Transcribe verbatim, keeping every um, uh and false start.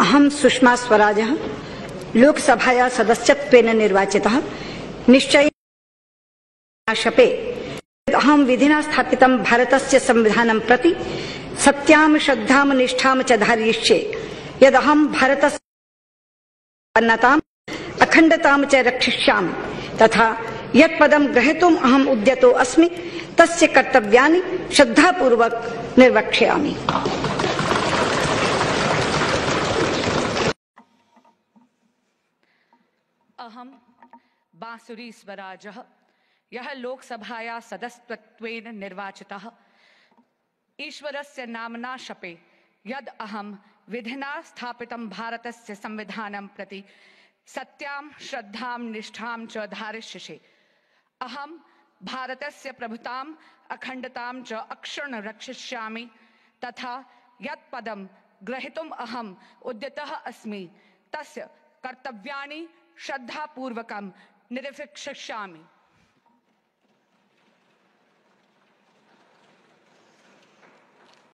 अहम सुषमा स्वराजः लोकसभाया सदस्यत्वेन निर्वाचितः। निश्चयेन शपे अहम विधिना स्थापितं भारतस्य संविधानं प्रति सत्यां श्रद्धां निष्ठां च धारयिष्ये। यदहं भारतस्य अन्नताम् अखण्डतां च रक्षिष्यामि तथा यत्पदं ग्रहीतुम् अहम् उद्यतो अस्मि तस्य कर्तव्यानि श्रद्धापूर्वक निर्वक्ष्यामि। अहम बांसुरी स्वराजः यः लोकसभाया सदस्यत्वेन निर्वाचितः। ईश्वरस्य नाम्ना शपे यद् अहं विधिना स्थापितं भारतस्य संविधानं प्रति सत्यां श्रद्धां निष्ठां च धारयिष्ये। अहं भारतस्य प्रभुताम् अखण्डतां च अक्षुण्ण रक्षिष्यामि तथा यत् पदं ग्रहीतुम् अहम् उद्यतः अस्मि तस्य कर्तव्यानि श्रद्धापूर्वकं निर्वक्ष्यामि।